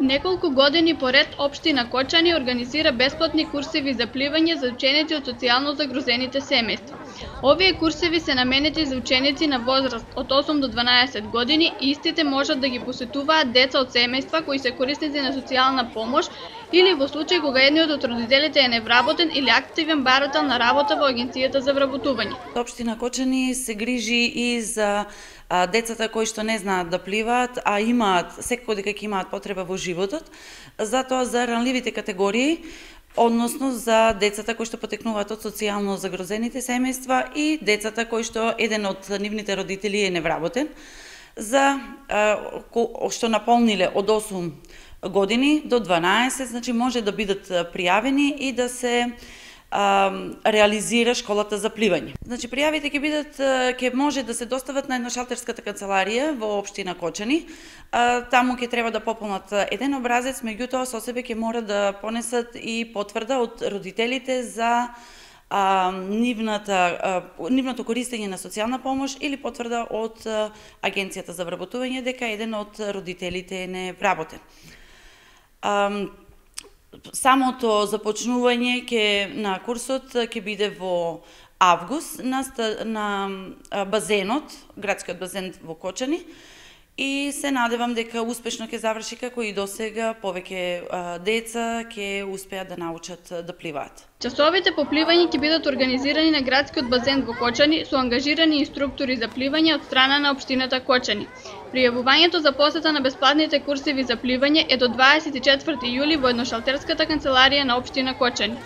Неколку години поред општина Кочани организира бесплатни курсеви за пливање за ученици од социјално загрозените семејства. Овие курсеви се наменети за ученици на возраст од 8 до 12 години и истите можат да ги посетуваат деца од семејства кои се корисници на социјална помош или во случај кога едниот од родителите е невработен или активен барател на работа во Агенцијата за вработување. Општина Кочани се грижи и за децата кои што не знаат да пливаат, а имаат секако дека ќе имаат потреба во животот, затоа за ранливите категории, односно за децата кои што потекнуваат од социјално загрозените семејства и децата кои што еден од нивните родители е невработен, за што наполниле од 8 години до 12, значи може да бидат пријавени и да се реализира школата за пливање. Значи пријавите ќе може да се достават на едношалтерската канцеларија во општина Кочани. Таму ќе треба да пополнат еден образец, меѓутоа со себе ќе мора да понесат и потврда од родителите за нивното користење на социјална помош или потврда од Агенцијата за вработување дека еден од родителите е невработен. Самото започнување на курсот ќе биде во август на базенот, градскиот базен во Кочани, и се надевам дека успешно ќе заврши како и досега, повеќе деца ќе успеат да научат да пливаат. Часовите по пливање ќе бидат организирани на градскиот базен во Кочани со ангажирани инструктори за пливање од страна на општината Кочани. Пријавувањето за посета на бесплатните курсеви за пливање е до 24 јули во едношалтерската канцеларија на општина Кочани.